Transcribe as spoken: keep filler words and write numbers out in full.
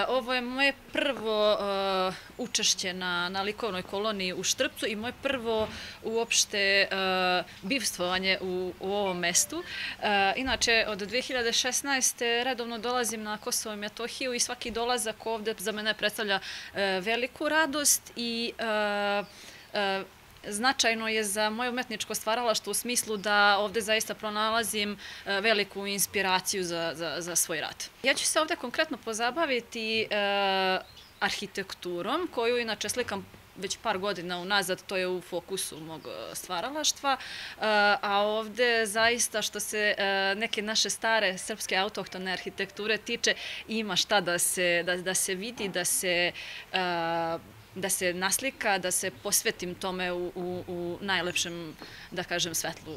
Ovo je moje prvo uh, učešće na, na likovnoj koloniji u Štrpcu i moje prvo uopšte uh, bivstvovanje u, u ovom mestu. Uh, inače, od dve hiljade šesnaeste. redovno dolazim na Kosovo i Metohiju i svaki dolazak ovde za mene predstavlja uh, veliku radost i uh, uh, značajno je za moje umetničko stvaralaštvo u smislu da ovde zaista pronalazim veliku inspiraciju za, za, za svoj rad. Ja ću se ovde konkretno pozabaviti e, arhitekturom, koju inače slikam već par godina unazad, to je u fokusu mog stvaralaštva, a ovde zaista što se neke naše stare srpske autohtone arhitekture tiče, ima šta da se, da, da se vidi, da se da se naslika, da se posvetim tome u, u, u najlepšem, da kažem, svetlu.